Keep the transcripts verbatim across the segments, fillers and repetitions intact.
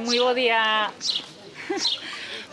moi bo día.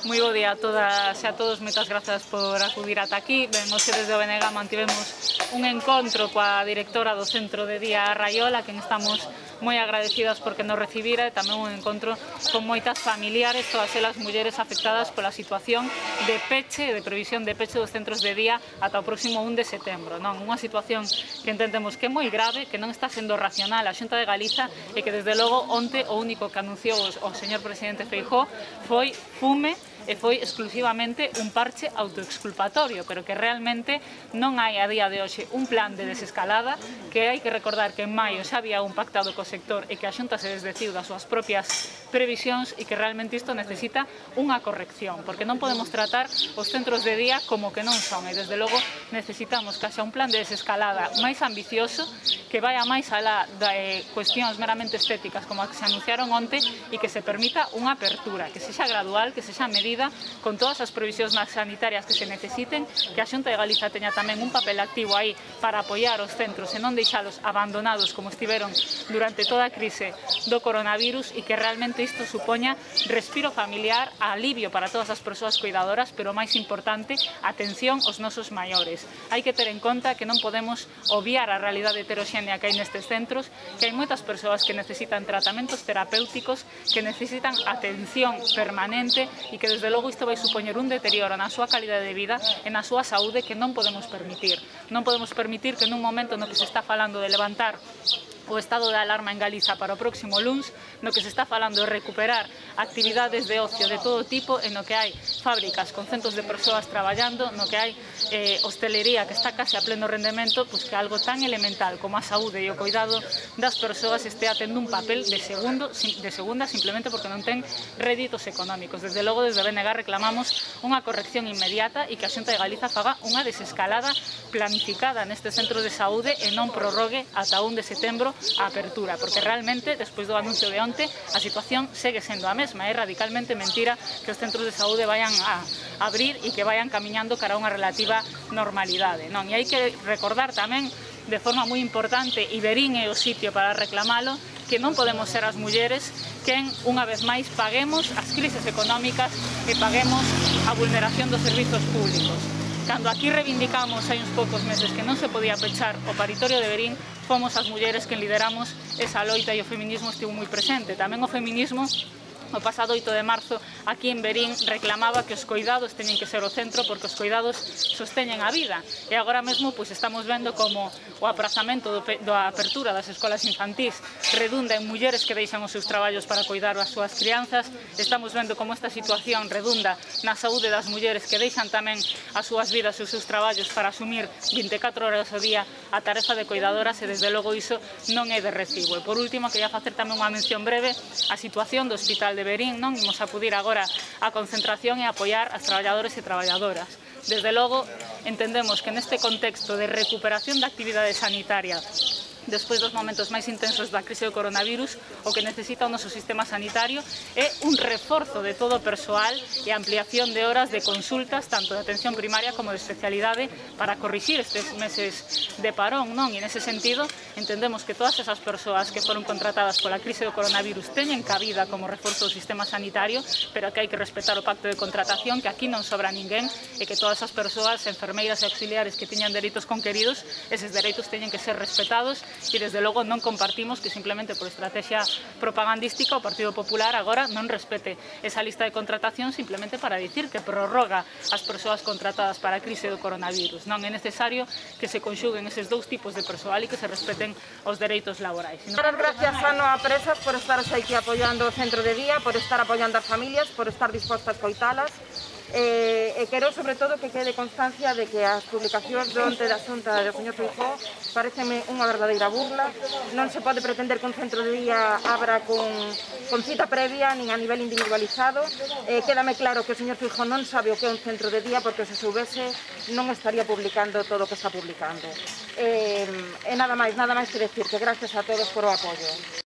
Moi bo día a todas e a todos, moitas grazas por acudir ata aquí. Ben, hoxe desde o B N G mantivemos un encontro coa directora do Centro de Día Raiola, a quen estamos moi agradecidas porque nos recibira, e tamén un encontro con moitas familiares, todas elas mulleres afectadas pola situación de peche, de previsión de peche dos centros de día ata o próximo un de setembro. Non, unha situación que entendemos que é moi grave, que non está sendo racional a Xunta de Galiza e que desde logo onte o único que anunciou o señor presidente Feijóo foi fume e foi exclusivamente un parche autoexculpatorio, pero que realmente non hai a día de hoxe un plan de desescalada, que hai que recordar que en maio xa había un pactado co sector e que a Xunta se desdeciu das súas propias previsións e que realmente isto necesita unha corrección, porque non podemos tratar os centros de día como que non son, e desde logo necesitamos que haxa un plan de desescalada máis ambicioso, que vaya máis alá de cuestións meramente estéticas como as que se anunciaron onte, e que se permita unha apertura, que sexa gradual, que sexa medida con todas as previsións sanitarias que se necesiten, que a Xunta de Galiza teña tamén un papel activo aí para apoiar os centros e non deixalos abandonados como estiveron durante toda a crise do coronavirus, e que realmente isto supoña respiro familiar, alivio para todas as persoas cuidadoras, pero máis importante, atención aos nosos maiores. Hai que ter en conta que non podemos obviar a realidade heteroxénea que hai nestes centros, que hai moitas persoas que necesitan tratamentos terapéuticos, que necesitan atención permanente, e que desde logo isto vai supoñer un deterioro na súa calidade de vida e na súa saúde que non podemos permitir. Non podemos permitir que nun momento no que se está falando de levantar o estado de alarma en Galiza para o próximo luns, no que se está falando de recuperar actividades de ocio de todo tipo, en no que hai fábricas con centos de persoas traballando, no que hai eh, hostelería que está case a pleno rendemento, pois que algo tan elemental como a saúde e o cuidado das persoas estea tendo un papel de segundo, de segunda simplemente porque non ten réditos económicos. Desde logo, desde B N G reclamamos unha corrección inmediata e que a Xunta de Galiza faga unha desescalada planificada neste centro de saúde e non prorrogue ata un de setembro a apertura, porque realmente, despois do anuncio de onte, a situación segue sendo a mesma. É radicalmente mentira que os centros de saúde vayan a abrir e que vayan camiñando cara a unha relativa normalidade, non? E hai que recordar tamén, de forma moi importante, e Verín é o sitio para reclamalo, que non podemos ser as mulleres quen, unha vez máis, paguemos as crises económicas e paguemos a vulneración dos servizos públicos. Cando aquí reivindicamos hai uns poucos meses que non se podía pechar o paritorio de Verín, fomos as mulleres que lideramos esa loita e o feminismo estivo moi presente. Tamén o feminismo, o pasado oito de marzo, aquí en Verín, reclamaba que os coidados teñen que ser o centro, porque os coidados sosteñen a vida. E agora mesmo pois, estamos vendo como o aprazamento do, da apertura das escolas infantís redunda en mulleres que deixan os seus traballos para coidar as súas crianzas. Estamos vendo como esta situación redunda na saúde das mulleres que deixan tamén as súas vidas e os seus traballos para asumir vinte e catro horas ao día a tarefa de coidadoras, e desde logo iso non é de recibo. E por último, quería facer tamén unha mención breve a situación do Hospital de de Verín, non? Imos acudir agora á concentración e apoiar as traballadores e traballadoras. Desde logo, entendemos que neste contexto de recuperación da actividade sanitaria despois dos momentos máis intensos da crise do coronavirus, o que necesita o noso sistema sanitario é un reforzo de todo o persoal e ampliación de horas de consultas, tanto de atención primaria como de especialidade, para corrixir estes meses de parón, non? E nese sentido, entendemos que todas esas persoas que foron contratadas pola crise do coronavirus teñen cabida como reforzo do sistema sanitario, pero que hai que respetar o pacto de contratación, que aquí non sobra ninguén, e que todas as persoas, enfermeiras e auxiliares que teñan dereitos conqueridos, eses dereitos teñen que ser respetados. E desde logo non compartimos que simplemente por estrategia propagandística o Partido Popular agora non respete esa lista de contratación simplemente para dicir que prorroga as persoas contratadas para a crise do coronavirus. Non é necesario que se conxuguen eses dous tipos de persoal e que se respeten os dereitos laborais. Muchas gracias, Ano, a Presas, por estar aquí apoiando o centro de día, por estar apoiando as familias, por estar dispostas a coitalas. Eh, e quero, sobre todo, que quede constancia de que as publicacións do onte da Xunta do señor Feijóo pareceme unha verdadeira burla. Non se pode pretender que un centro de día abra con, con cita previa, nin a nivel individualizado. Eh, quédame claro que o señor Feijóo non sabe o que é un centro de día, porque se soubese non estaría publicando todo o que está publicando. Eh, e nada máis, nada máis que decir, que gracias a todos por o apoio.